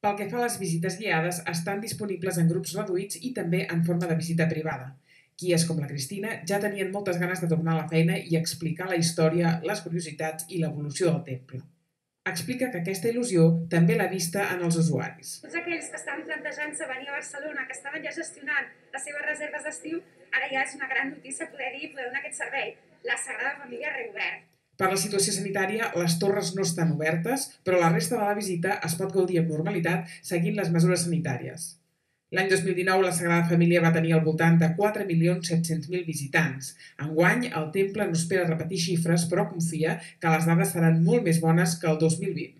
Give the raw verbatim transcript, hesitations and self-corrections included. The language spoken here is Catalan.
Pel que fa a les visites guiades, estan disponibles en grups reduïts i també en forma de visita privada. Guies com la Cristina ja tenien moltes ganes de tornar a la feina i explicar la història, les curiositats i l'evolució del temple. Explica que aquesta il·lusió també l'ha vista en els usuaris. Tots aquells que estaven plantejant-se venir a Barcelona, que estaven ja gestionant les seves reserves d'estiu, ara ja és una gran notícia poder dir i poder donar aquest servei. La Sagrada Família ha reobert. Per la situació sanitària, les torres no estan obertes, però la resta de la visita es pot gaudir amb normalitat seguint les mesures sanitàries. L'any dos mil dinou, la Sagrada Família va tenir al voltant de quatre milions set-cents mil visitants. Enguany, el temple no espera repetir xifres, però confia que les dades seran molt més bones que el dos mil vint.